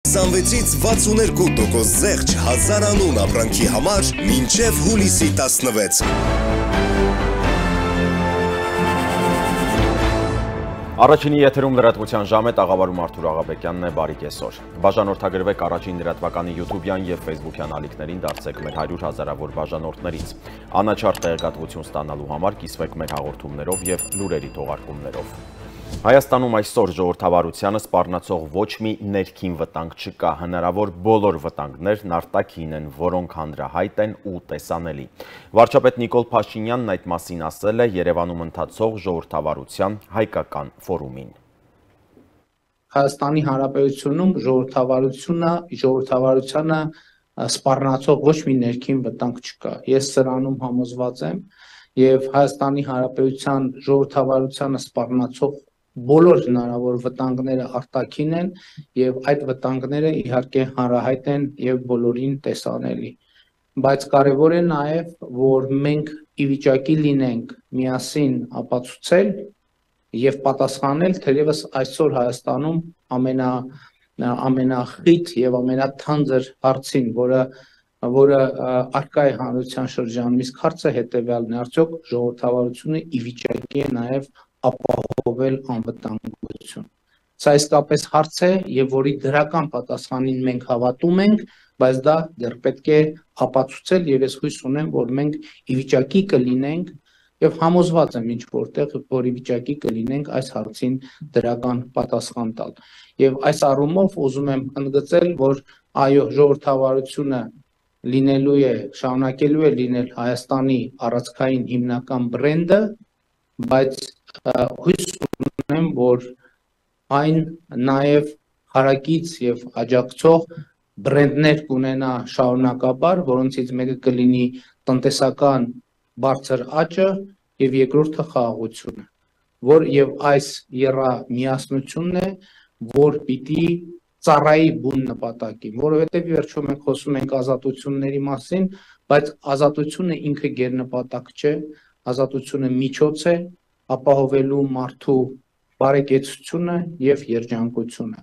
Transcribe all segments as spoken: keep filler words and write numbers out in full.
քսանվեցից վաթսուներկու տոկոս զեղչ հազար անուն ապրանքի համար մինչև հուլիսի տասնվեց։ Առաջինի եթերում լրատվության ժամ է, տաղավարում Արթուր Աղաբեկյանն է, բարի կեսօր։ Բաժանորդագրվեք առաջին լրատվականի յութուբյան և ֆեյսբուքյան ալիքներին, դարձեք մեր հարյուր հազարավոր բաժանորդներից։ Անաչառ տեղեկատվություն ստանալու համար կիսվեք մեր հաղորդումներով և լուրերի թողարկումներով։ Հայաստանում այսօր ժողովրդավարությանը սպառնացող ոչ մի ներքին վտանգ չկա, հնարավոր բոլոր վտանգներն արտաքին են, որոնք հանրահայտ են ու տեսանելի։ Վարչապետ Նիկոլ Փաշինյանն այդ մասին ասել է Երևանում ընթացող ժողովրդավարության հայկական ֆորումին։ Հայաստանի Հանրապետությունում ժողովրդավարությունը, ժողովրդավարությանը սպառնացող ոչ մի ներքին վտանգ չկա։ Ես սրանում համոզված եմ եւ Հայաստանի Հանրապետության ժողովրդավարությանը սպառնացող բոլոր հնարավոր վտանգները արտաքին են եւ այդ վտանգները իհարկե հանրահայտ են եւ բոլորին տեսանելի, բայց կարեւոր է նաեւ որ մենք ի վիճակի լինենք միասին ապացուցել եւ պատասխանել թերևս այսօր Հայաստանում ամենա ամենախիտ եւ ամենաթանձր հարցին, որը որը արկա է հանրության շրջանում, իսկ հարցը հետեւյալն է, արդյոք ժողովրդավարությունը ի վիճակի է նաեւ ապահովել անվտանգություն։ Սա իսկապես հարց է եւ որի դրական պատասխանին մենք հավատում ենք, բայց դա դեռ պետք է ապացուցել եւ ես հույս ունեմ, որ մենք ի վիճակի կլինենք եւ համոզված եմ ինչ որտեղ, որ ի վիճակի կլինենք այս հարցին դրական պատասխան տալ։ Եվ այս առումով ուզում եմ ընդգծել, որ այո, ժողովրդավարությունը լինելու է, շարունակելու է լինել Հայաստանի առանցքային հիմնական բրենդը, բայց հույս ունեմ, որ այն նաև հարակից եւ աջակցող բրենդներ կունենա շարունակաբար, որոնցից մեկը կլինի տնտեսական բարձր աճը եւ երկրորդը խաղաղությունը, որ եւ այս երա միասնությունն է, որ պիտի ծառայի բուն նպատակին, որովհետեւ վերջում մենք խոսում ենք ազատությունների մասին, բայց ազատությունը ինքը գերնպատակ չէ, ազատությունը միջոց է ապահովելու մարդու բարեկեցությունը եւ երջանկությունը։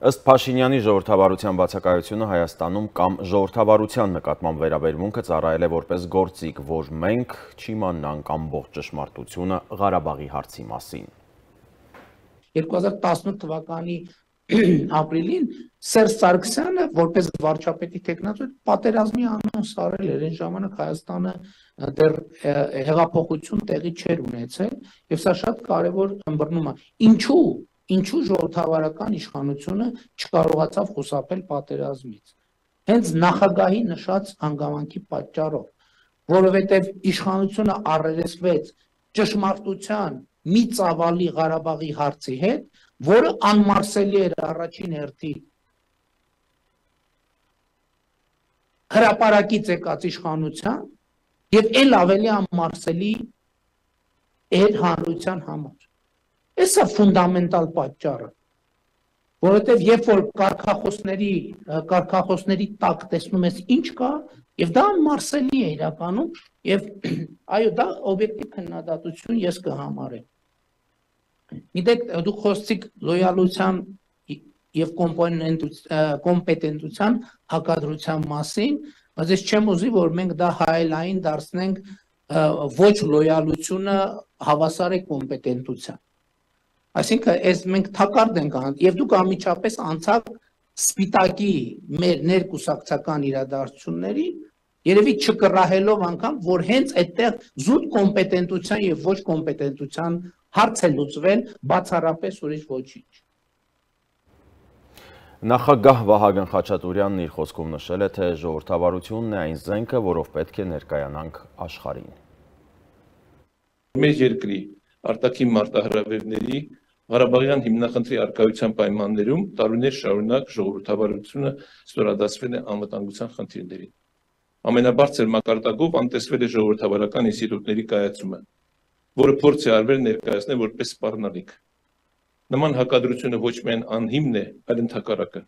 Ըստ Փաշինյանի ժողովրդավարության բացակայությունը Հայաստանում կամ ժողովրդավարության նկատմամբ վերաբերմունքը ծառայել է որպես գործիք, որ մենք չիմանանք ամբողջ ճշմարտությունը Ղարաբաղի հարցի մասին։ երկու հազար տասնութ թվականի ապրիլին Սերժ Սարգսյանը որպես վարչապետի տեխնացու պատերազմի անոնց արել էր, այն ժամանակ Հայաստանը դեռ հեղափոխություն տեղի չէր ունեցել եւ սա շատ կարեւոր ըմբռնում է։ Ինչու Ինչու ժողովրդավարական իշխանությունը չկարողացավ խուսափել պատերազմից։ Հենց նախագահի նշած հանգամանքի պատճառով, որովհետև իշխանությունը առերեսվեց ճշմարտության մի ծավալի Ղարաբաղի հարցի հետ, որը անմարսելի էր առաջին հերթին հրապարակից եկած իշխանության եւ ել ավելի անմարսելի էր հանրության համար։ Էսա ֆունդամենտալ պատճառը, որովհետև երբ որ կարգախոսների կարգախոսների տակ տեսնում ես ինչ կա, եւ դա անմարսելի է իրականում, եւ այո, դա օբյեկտիվ քննադատություն ես կհամարեմ։ Գիտեք, դուք խոսեցիք լոյալության եւ կոմպետենտության հակադրության մասին, բայց ես չեմ ուզի, որ մենք դա հայելային դարձնենք ոչ լոյալությունը հավասար է կոմպետենտության։ Այսինքն, այս մենք թակարդ ենք անում, եւ դուք անմիջապես անցաք սպիտակի մեր ներկուսակցական իրադարձությունների, երևի չկռահելով անգամ, որ հենց այդտեղ զուտ կոմպետենտության եւ ոչ կոմպետենտության հարց է լուծվել, բացառապես ուրիշ ոչինչ։ Նախագահ Վահագն Խաչատուրյանն իր խոսքում նշել է, թե ժողովրդավարությունն է այն զենքը, որով պետք է ներկայանանք աշխարհին։ Մեր երկրի արտաքին մարտահրավերների Ղարաբաղյան հիմնախնդրի առկայության պայմաններում տարիներ շարունակ ժողովրդավարությունը ստորադասվել է անվտանգության խնդիրներին։ Ամենաբարձր մակարդակով անտեսվել է ժողովրդավարական ինստիտուտների կայացումը, որը փորձ է արվել ներկայացնել որպես սպառնալիք։ Նման հակադրությունը ոչ միայն անհիմն է, այլ ընդհակառակը։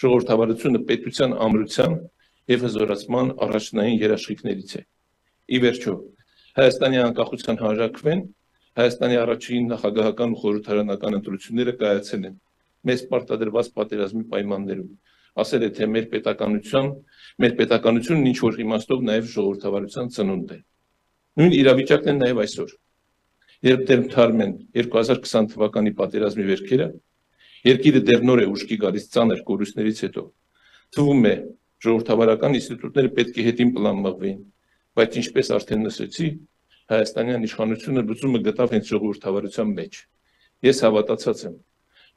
Ժողովրդավարությունը պետության ամրության եւ հզորացման առաջնային երաշխիքներից է։ Ի վերջո, Հայաստանի անկախության հանրաքվեն Հայաստանի առաջին նախագահական ու խորհրդարանական ընտրությունները կայացել են մեզ պարտադրված պատերազմի պայմաններում։ Ասել է, թե մեր պետականության, մեր պետականությունն ինչ որ իմաստով նաև ժողովրդավարության ծնունդ է։ Նույն իրավիճակն է նաև այսօր։ Երբ դեռ թարմեն երկու հազար քսան թվականի պատերազմի վերքերը, երկիրը դեռ նոր է ուշքի գալիս ծանր կորուստներից հետո, թվում է ժողովրդավարական ինստիտուտները պետք է հետին պլան մղվեին, բայց ինչպես արդեն նշեցի, հայաստանյան իշխանությունը լուծումը գտավ հենց ժողովրդավարության մեջ։ Ես հավատացած եմ,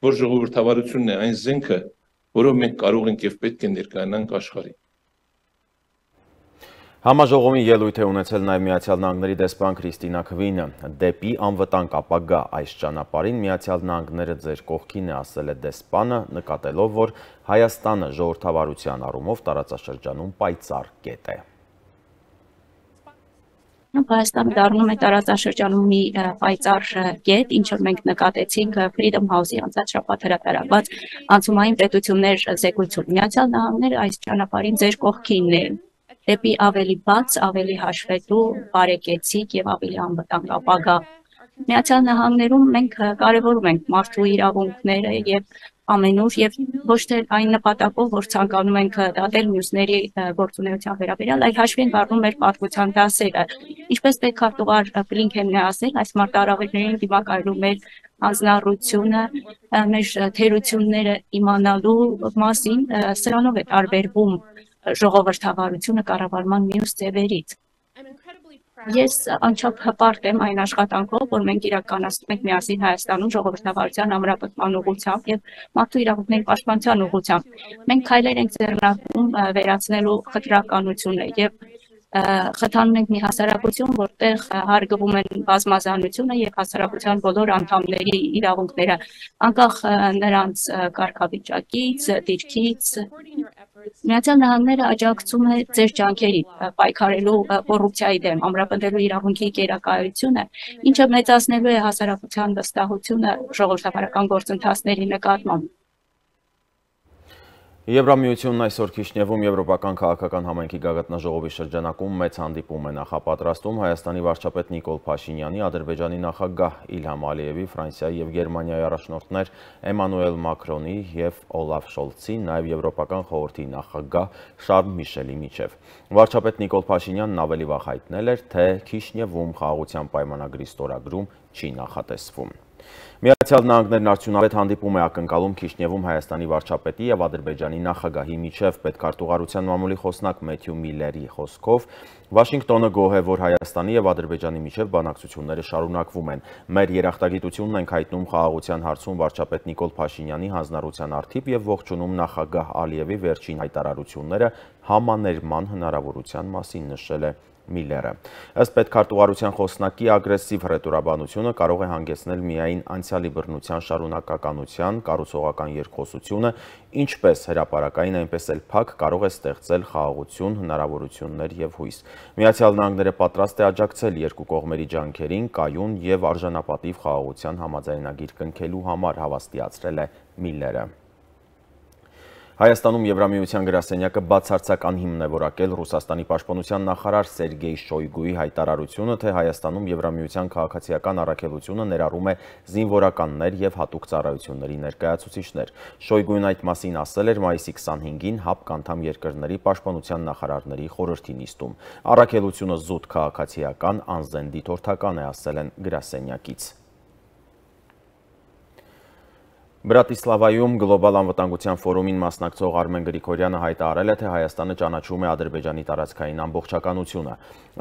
որ ժողովրդավարությունն է այն զենքը, որով մենք կարող ենք եւ պետք է ներկայանանք աշխարհին։ Համաժողովին ելույթ է ունեցել նաև Միացյալ Նահանգների դեսպան Քրիստինա Քվինը։ Դեպի անվտանգ ապագա այս ճանապարհին Միացյալ Նահանգները ձեր կողքին է, ասել է դեսպանը, նկատելով, որ Հայաստանը ժողովրդավարության առումով տարածաշրջանում պայծառ կետ է։ Հայաստանը դառնում է տարածաշրջանում մի պայծառ կետ, ինչ որ մենք նկատեցինք Freedom House-ի անցած շաբաթ հրապարակված անցումային պետություններ զեկույցում։ Միացյալ Նահանգները այս ճանապարհին ձեր կողքինն է, դեպի ավելի բաց, ավելի հաշվետու, բարեկեցիկ եւ ավելի անվտանգ ապագա։ Միացյալ Նահանգներում մենք կարևորում ենք մարդու իրավունքները եւ ամենուր եւ ոչ թե այն նպատակով, որ ցանկանում ենք դատել մյուսների գործունեության վերաբերյալ, այլ հաշվի ենք առնում մեր պատմության դասերը։ Ինչպես պետքարտուղար Բլինքենն է ասել, այս մարտահրավերներին դիմակայելու մեր հանձնառությունը, մեր թերությունները իմանալու մասին, սրանով է տարբերվում ժողովրդավարությունը կառավարման մյուս ձևերից։ Ես անչափ հպարտ եմ այն աշխատանքով, որ մենք իրականացնում ենք միասին Հայաստանում ժողովրդավարության ամրապնդման ուղղությամբ եւ մարդու իրավունքների պաշտպանության ուղղությամբ։ Մենք քայլեր ենք ձեռնարկում վերացնելու խտրականությունը եւ խթանում ենք մի հասարակություն, որտեղ հարգվում են բազմազանությունը եւ հասարակության բոլոր անդամների իրավունքները, անկախ նրանց կարգավիճակից, դիրքից։ Միացյալ Նահանգները աջակցում է ձեր ջանքերին պայքարելու կոռուպցիայի դեմ, ամրապնդելու իրավունքի գերակայությունը, ինչը մեծացնելու է հասարակության վստահությունը ժողովրդավարական գործընթացների նկատմամբ։ Եվրամիությունն այսօր Քիշնևում Եվրոպական քաղաքական համայնքի գագաթնաժողովի շրջանակում մեծ հանդիպում է նախապատրաստում Հայաստանի վարչապետ Նիկոլ Փաշինյանի, Ադրբեջանի նախագահ Իլհամ Ալիևի, Ֆրանսիայի եւ Գերմանիայի առաջնորդներ Էմանուել Մակրոնի եւ Օլաֆ Շոլցի, նաեւ Եվրոպական խորհրդի նախագահ Շարլ Միշելի միջև։ Վարչապետ Նիկոլ Փաշինյանն ավելի վաղ հայտնել էր, թե Քիշնևում խաղաղության պայմանագրի ստորագրում չի նախատեսվում։ Միացյալ Նահանգներն արդյունավետ հանդիպում է ակնկալում Քիշնևում Հայաստանի վարչապետի եւ Ադրբեջանի նախագահի միջև պետքարտուղարության մամուլի խոսնակ Մեթյու Միլլերի խոսքով Վաշինգտոնը գոհ է, որ Հայաստանի եւ Ադրբեջանի միջև բանակցությունները շարունակվում են։ Մեր երախտագիտությունն ենք հայտնում խաղաղության հարցում վարչապետ Նիկոլ Փաշինյանի հանձնառության առթիվ եւ ողջունում նախագահ Ալիևի վերջին հայտարարությունները համաներման հնարավորության մասին, նշել է Միլլերը։ Ըստ պետքարտուղարության խոսնակի, ագրեսիվ հռետորաբանությունը կարող է հանգեցնել միայն անցյալի բռնության շարունակականության, կառուցողական երկխոսությունը, ինչպես հրապարակային, այնպես էլ փակ կարող է ստեղծել խաղաղություն, հնարավորություններ եւ հույս։ Միացյալ Նահանգները պատրաստ է աջակցել երկու կողմերի ջանքերին կայուն եւ արժանապատիվ խաղաղության համաձայնագիր կնքելու համար, հավաստիացրել է Միլլերը։ Հայաստանում Եվրամիության գրասենյակը բացարձակ անհիմն է որակել Ռուսաստանի պաշտպանության նախարար Սերգեյ Շոյգուի հայտարարությունը, թե Հայաստանում Եվրամիության քաղաքացիական առաքելությունը ներառում է զինվորականներ եւ հատուկ ծառայությունների ներկայացուցիչներ։ Շոյգուին այդ մասին ասել էր մայիսի քսանհինգին ՀԱՊԿ անդամ երկրների պաշտպանության նախարարների խորհրդի նիստում։ Առաքելությունը զուտ քաղաքացիական, անզեն դիտորդական է, ասել են գրասենյակից։ Բրատիսլավայում գլոբալ անվտանգության ֆորումին մասնակցող Արմեն Գրիգորյանը հայտարարել է, թե Հայաստանը ճանաչում է Ադրբեջանի տարածքային ամբողջականությունը։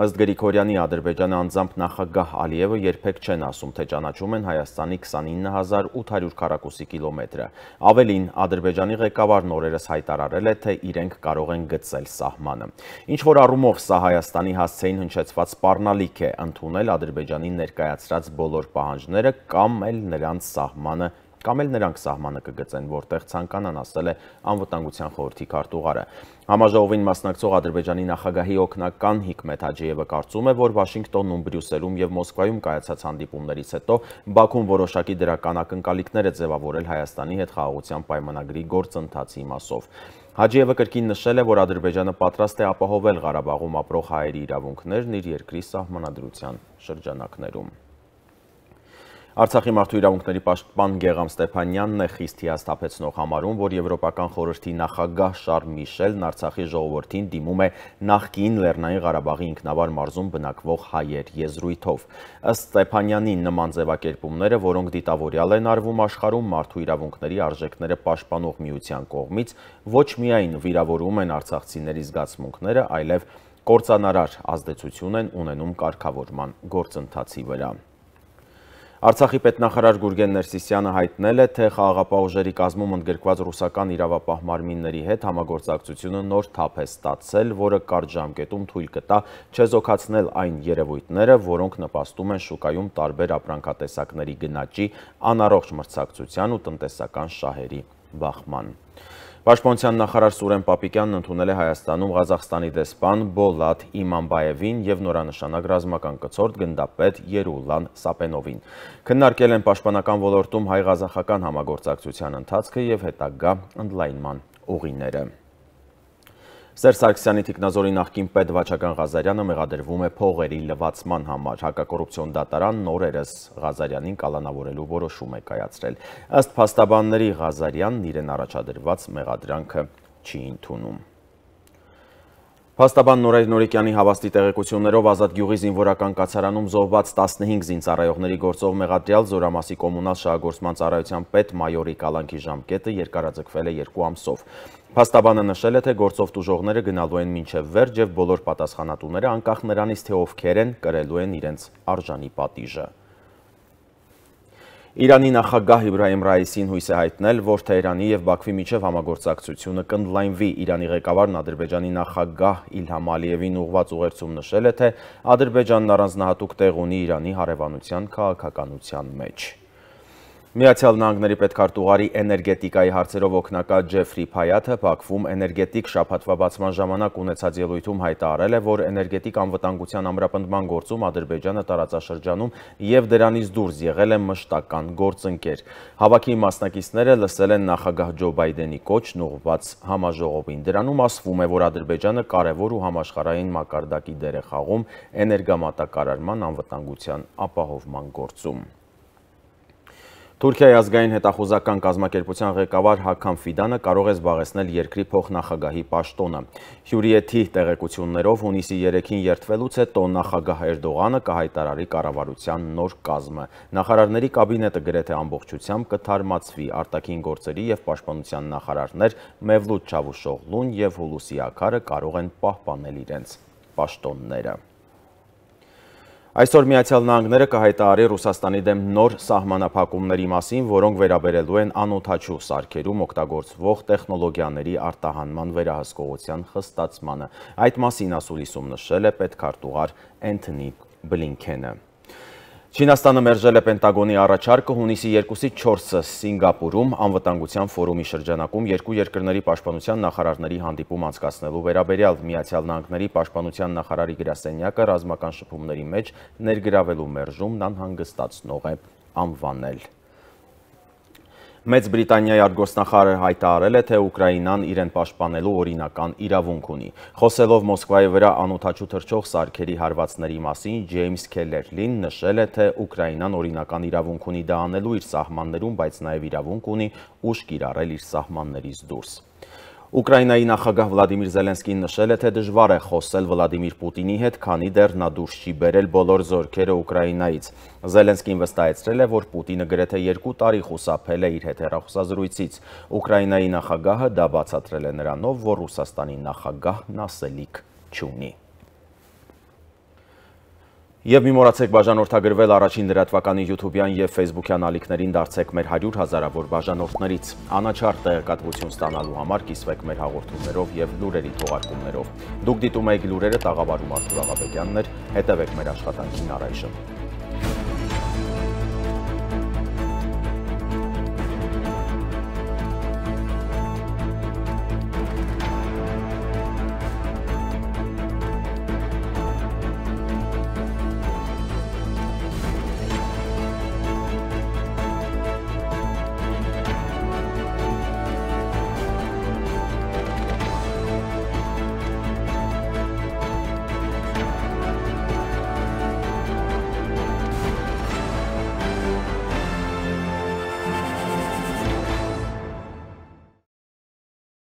Ըստ Գրիգորյանի, Ադրբեջանը անձամբ նախագահ Ալիևը երբեք չեն ասում, թե ճանաչում են Հայաստանի քսանինը հազար ութ հարյուր քառակուսի կիլոմետրը։ Ավելին, Ադրբեջանի ղեկավարն օրերս հայտարարել է, թե իրենք կարող են գծել սահմանը։ Ինչ որ առումով սա Հայաստանի հասցեին հնչեցված սպառնալիք է, ընդունել Ադրբեջանի ներկայացրած բոլոր պահանջները կամ էլ նրանց սահմանը կամ էլ նրանք սահմանը կգծեն, որտեղ ցանկանան, ասել է անվտանգության խորհրդի քարտուղարը։ Համաժողովին մասնակցող Ադրբեջանի նախագահի օգնական Հիկմեթ Հաջիևը կարծում է, որ Վաշինգտոնում, Բրյուսելում եւ Մոսկվայում կայացած հանդիպումներից հետո Բաքուն որոշակի դրական ակնկալիքներ է ձևավորել Հայաստանի հետ խաղաղության պայմանագրի գործընթացի մասով։ Հաջիևը կրկին նշել է, որ Ադրբեջանը պատրաստ է ապահովել Ղարաբաղում ապրող հայերի իրավունքներն իր երկրի սահմանադրության շրջանակներում։ Արցախի մարդու իրավունքների պաշտպան Գեգամ Ստեփանյանն է խիստ հիասթափեցնող համարում, որ Եվրոպական խորհրդի նախագահ Շարլ Միշելն Արցախի ժողովրդին դիմում է նախկին Լեռնային Ղարաբաղի ինքնավար մարզում բնակվող հայեր եզրույթով։ Ըստ Ստեփանյանի նման ձևակերպումները, որոնք դիտավորյալ են արվում աշխարհում մարդու իրավունքների արժեքները պաշտպանող միության կողմից, ոչ միայն վիրավորում են արցախցիների զգացմունքները, այլև կործանարար ազդեցություն են ունենում կարգավորման գործընթացի վրա։ Արցախի պետնախարար Գուրգեն Ներսիսյանը հայտնել է, թե խաղաղապահ ուժերի կազմում ընդգրկված ռուսական իրավապահ մարմինների հետ համագործակցությունը նոր թափ է ստացել, որը կարճ ժամկետում թույլ կտա չեզոքացնել այն երևույթները, որոնք նպաստում են շուկայում տարբեր ապրանքատեսակների գնաճի, անառողջ մրցակցության ու տնտեսական շահերի բախման։ Պաշտպանության նախարար Սուրեն Պապիկյանն ընդունել է Հայաստանում Ղազախստանի դեսպան Բոլատ Իմանբաևին և նորանշանակ ռազմական կցորդ գնդապետ Երուլան Սապենովին։ Քննարկել են պաշտպանական ոլորտում հայ-ղազախական համագործակցության ընթացքը և հետագա ընդլայնման ուղիները։ Սերժ Սարգսյանի թիկնազորի նախկին պետ Վաչագան Ղազարյանը մեղադրվում է փողերի լվացման համար։ Հակակոռուպցիոն դատարանն օրերս Ղազարյանին կալանավորելու որոշում է կայացրել։ Ըստ փաստաբանների Ղազարյանն իրեն առաջադրված մեղադրանքը չի ընդունում։ Փաստաբան Նորայր Նորիկյանի հավաստի տեղեկություններով Ազատ գյուղի զինվորական կացարանում զոհված տասնհինգ զինծառայողների գործով մեղադրյալ Զորամասի կոմունալ շահագործման ծառայության պետ մայորի կալանքի ժամկետը երկարաձգվել է երկու ամսով։ Փաստաբանը նշել է, թե գործով տուժողները գնալու են մինչև վերջ և բոլոր պատասխանատուները, անկախ նրանից, թե ովքեր են, կրելու են իրենց արժանի պատիժը։ Իրանի նախագահ Իբրահիմ Ռայիսին հույս է հայտնել, որ Թեհրանի և Բաքվի միջև համագործակցությունը կընդլայնվի։ Իրանի ղեկավարն Ադրբեջանի նախագահ Իլհամ Ալիևին ուղղված ուղերձում նշել է, թե Ադրբեջանն առանձնահատուկ տեղ ունի Իրանի հարևանության քաղաքականության մեջ։ Միացյալ Նահանգների պետքարտուղարի էներգետիկայի հարցերով օգնակար Ջեֆրի Փայաթը Բաքվում էներգետիկ շաբաթվա բացման ժամանակ ունեցած ելույթում հայտարարել է, որ էներգետիկ անվտանգության ամրապնդման գործում Ադրբեջանը տարածաշրջանում և դրանից դուրս եղել է մշտական գործընկեր։ Հավաքի մասնակիցները լսել են նախագահ Ջո Բայդենի կոչն ուղղված համաժողովին։ Դրանում ասվում է, որ Ադրբեջանը կարևոր ու համաշխարհային մակարդակի դեր է խաղում էներգամատակարարման անվտանգության ապահովման գործում։ Թուրքիայի ազգային հետախուզական կազմակերպության ղեկավար Հաքամ Ֆիդանը կարող է զբաղեցնել երկրի փոխնախագահի պաշտոնը։ Հյուրիեթի տեղեկություններով հունիսի երեքին երդվելուց հետո նախագահ Էրդողանը կհայտարարի կառավարության նոր կազմը։ Նախարարների կաբինետը գրեթե ամբողջությամբ կթարմացվի, արտաքին գործերի և պաշտպանության նախարարներ Մևլութ Չավուշօղլուն և Հուլուսի Աքարը կարող են պահպանել իրենց պաշտոնները։ Այսօր Միացյալ Նահանգները կհայտարարի Ռուսաստանի դեմ նոր սահմանափակումների մասին, որոնք վերաբերելու են անօդաչու սարքերում օգտագործվող տեխնոլոգիաների արտահանման վերահսկողության խստացմանը։ Այդ մասին ասուլիսում նշել է պետքարտուղար Էնթոնի Բլինքենը։ Չինաստանը մերժել է Պենտագոնի առաջարկը հունիսի երկուսից չորսը Սինգապուրում անվտանգության ֆորումի շրջանակում երկու երկրների պաշտպանության նախարարների հանդիպում անցկացնելու վերաբերյալ Միացյալ Նահանգների պաշտպանության նախարարի գրասենյակը ռազմական շփումների մեջ ներգրավելու մերժումն անհանգստացնող է անվանել։ Մեծ Բրիտանիայի արտգործնախարարը հայտարարել է, թե Ուկրաինան իրեն պաշտպանելու օրինական իրավունք ունի։ Խոսելով Մոսկվայի վրա անօդաչու թռչող սարքերի հարվածների մասին, Ջեյմս Քելերլին նշել է, թե Ուկրաինան օրինական իրավունք ունի դա անելու իր սահմաններում, բայց նաև իրավունք ունի ուժ կիրառել իր սահմաններից դուրս։ Ուկրաինայի նախագահ Վլադիմիր Զելենսկին նշել է, թե դժվար է խոսել Վլադիմիր Պուտինի հետ, քանի դեռ նա դուրս չի բերել բոլոր զորքերը Ուկրաինայից։ Զելենսկին վստահեցրել է, որ Պուտինը գրեթե երկու տարի խուսափել է իր հետ հեռախոսազրույցից։ Ուկրաինայի նախագահը դա բացատրել է նրանով, որ Ռուսաստանի նախագահն ասելիք չունի։ Եվ մի մոռացեք բաժանորդագրվել առաջին լրատվականի յութուբյան և ֆեյսբուքյան ալիքներին դարձեք մեր հարյուր հազարավոր բաժանորդներից։ Անաչառ տեղեկատվություն ստանալու համար կիսվեք մեր հաղորդումներով և լուրերի թողարկումներով։ Դուք դիտում եք լուրերը, տաղավարում Արթուր Աղաբեկյանն էր, հետևեք մեր աշխատանքին առայժմ։